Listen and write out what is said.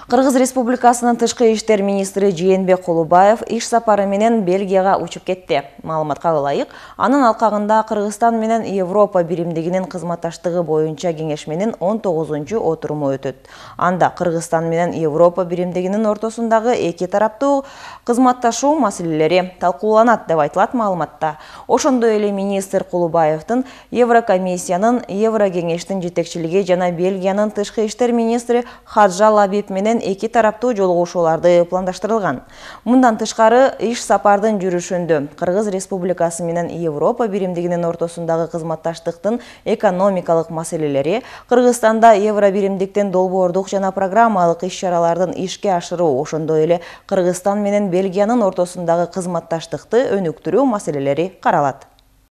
Кыргыз Республикасынын тышкы иштер министри Жээнбек Кулубаев иш сапары менен Бельгияга учуп кетти. Маалыматка ылайык, анын алкагында Кыргызстан менен Европа биримдигинин кызматташтыгы боюнча кеңешменин 19-чу отуруму өтөт. Анда Кыргызстан менен Европа биримдигинин ортосундагы эки тараптуу кызматташуу маселелери талкууланат деп айтылат маалыматта. Ошондой эле министр Кулубаевдин Еврокомиссиянын, Еврокеңештин жетекчилиги жана Бельгиянын тышкы иштер министри Хаджа Лабиб менен эки тараптуу жолугушууларды пландаштырылган. Мындан тышкары иш сапардын жүрүшүндө Кыргыз Республикасы менен Европа биримдигинин ортосундагы кызматташтыктын экономикалык маселелери, Кыргызстанда евро биримдиктен долбоордук жана программалык иш-чаралардын ишке ашыруу, ошондой эле Кыргызстан менен Бельгиянын ортосундагы кызматташтыкты өнүктүрүү маселелери каралат.